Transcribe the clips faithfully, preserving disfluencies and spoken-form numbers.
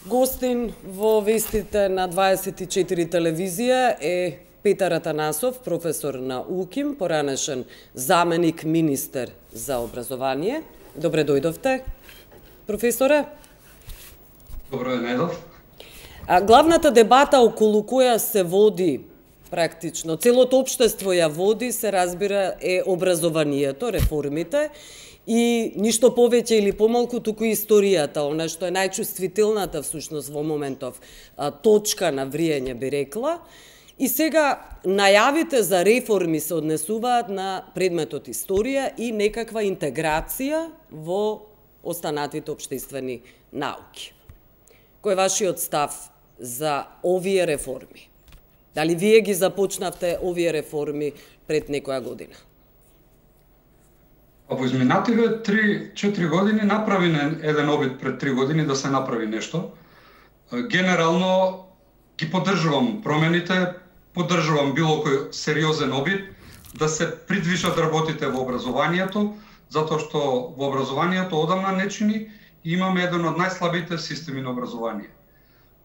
Гостин во вестите на дваесет и четири телевизија е Петар Атанасов, професор на УКИМ, поранешен заменик министер за образование. Добре дојдовте, професоре. Добро дојдов. А главната дебата околу која се води практично, целото општество ја води, се разбира, е образованието, реформите, и ништо повеќе или помалку, туку историјата, она што е најчувствителната всушност во моментов а, точка на вриење, би рекла. И сега најавите за реформи се однесуваат на предметот историја и некаква интеграција во останатите општествени науки. Кој е вашиот став за овие реформи? Дали вие ги започнавте овие реформи пред некоја година? Во изминативе три-четири години направи еден обид пред три години да се направи нешто. Генерално ги поддржувам промените, поддржувам било кој сериозен обид да се придвижат работите во образованието, затоа што во образованието одамна не чини и имаме еден од најслабите системи на образование.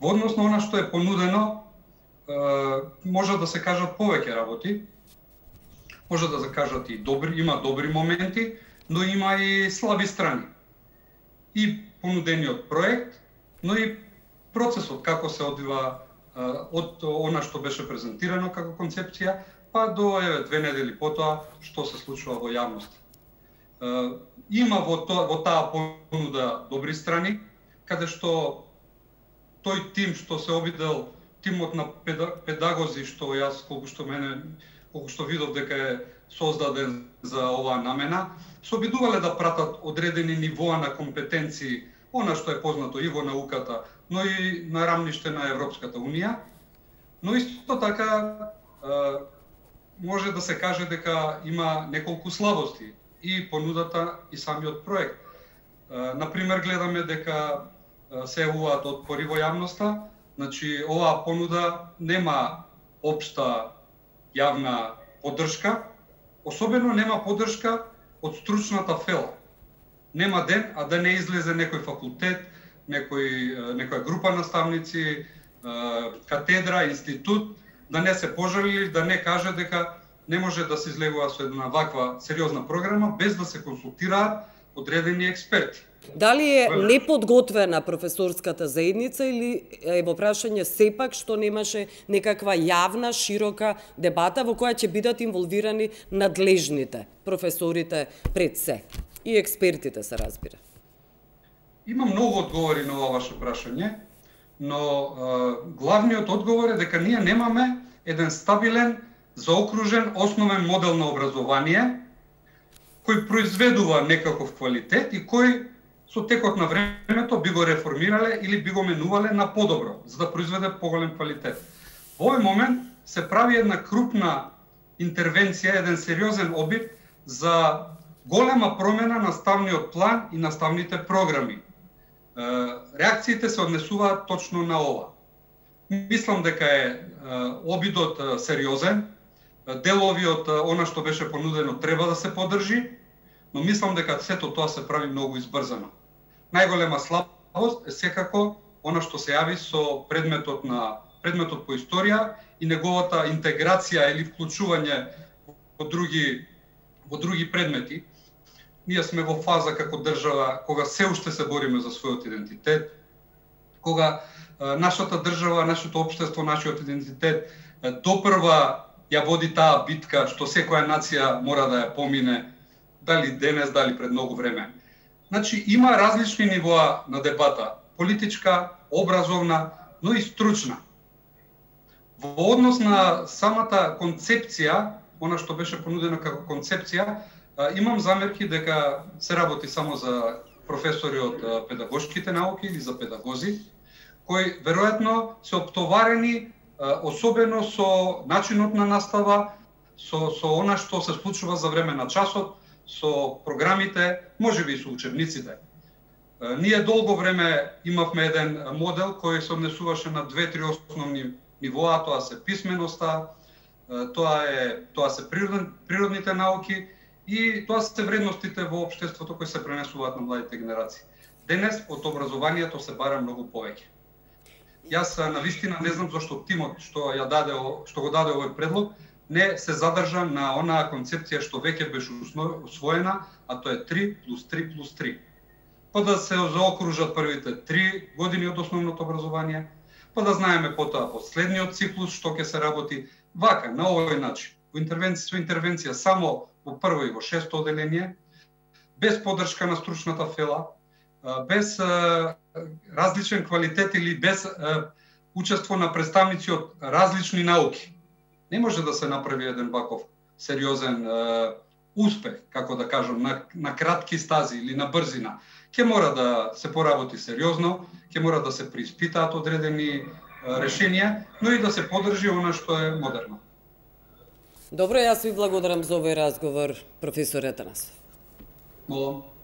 Во однос на она што е понудено, може да се кажат повеќе работи, може да се кажат и добри, има добри моменти, но има и слаби страни. И понудениот проект, но и процесот како се одвива од она што беше презентирано како концепција, па до еве две недели потоа што се случува во јавност. Има во тоа во таа понуда добри страни, каде што тој тим што се обидел, тимот на педагози што јас колку што мене колку што видов дека е создаден за оваа намена, се обидувале да пратат одредени нивоа на компетенции, она што е познато и во науката, но и на рамниште на Европската унија. Но исто така може да се каже дека има неколку слабости и понудата и самиот проект. Например, гледаме дека се јавуваат отпори во јавноста, значи оваа понуда нема општа јавна поддршка, особено нема поддршка од стручната фела. Нема ден, а да не излезе некој факултет, некој, некоја група наставници, катедра, институт, да не се пожалили, да не каже дека не може да се излегува со една ваква сериозна програма без да се консултираат одредени експерти. Дали е неподготвена професорската заедница или е во прашање сепак што немаше некаква јавна, широка дебата во која ќе бидат инволвирани надлежните, професорите пред се и експертите, се разбира? Има многу одговори на ова ваше прашање, но е, главниот одговор е дека ние немаме еден стабилен, заокружен, основен модел на образование кој произведува некаков квалитет и кој со текот на времето би го реформирале или би го менувале на подобро, за да произведе поголем квалитет. Во овој момент се прави една крупна интервенција, еден сериозен обид за голема промена на наставниот план и наставните програми. Реакциите се однесуваат точно на ова. Мислам дека е обидот сериозен, делови од она што беше понудено треба да се поддржи, но мислам дека сето тоа се прави многу избрзано. Најголема слабост е секако она што се јави со предметот на предметот по историја и неговата интеграција или вклучување во други во други предмети. Ние сме во фаза како држава кога се уште се бориме за својот идентитет, кога а, нашата држава, нашето општество, нашиот идентитет а, допрва ја води таа битка што секоја нација мора да ја помине, дали денес, дали пред многу време. Значи, има различни нивоа на дебата, политичка, образовна, но и стручна. Во однос на самата концепција, она што беше понудено како концепција, имам замерки дека се работи само за професори од педагошките науки или за педагози, кои веројатно се оптоварени особено со начинот на настава, со, со она што се случува за време на часот, со програмите, можеби и со учебниците. Ние долго време имавме еден модел кој се однесуваше на две-три основни нивоа, тоа се писменоста, тоа е тоа се природен, природните науки и тоа се вредностите во општеството кои се пренесуваат на младите генерации. Денес од образованието се бара многу повеќе. Јас на вистина не знам зашто тимот што ја даде што го даде овој предлог не се задржа на онаа концепција што веќе беше усвоена, а тоа е три плюс три плюс три. Па да се заокружат првите три години од основното образование, па да знаеме потоа последниот циклус што ќе се работи вака, на овој начин. Во интервенција, со интервенција само во прво и во шесто оделение, без поддршка на стручната фела, без различен квалитет или без учество на представници од различни науки. Не може да се направи еден ваков сериозен успех, како да кажам, на, на кратки стази или на брзина. Ке мора да се поработи сериозно, ке мора да се преиспитаат одредени решенија, но и да се поддржи она што е модерно. Добро, јас ви благодарам за овој разговор, професор Атанасов. Молам.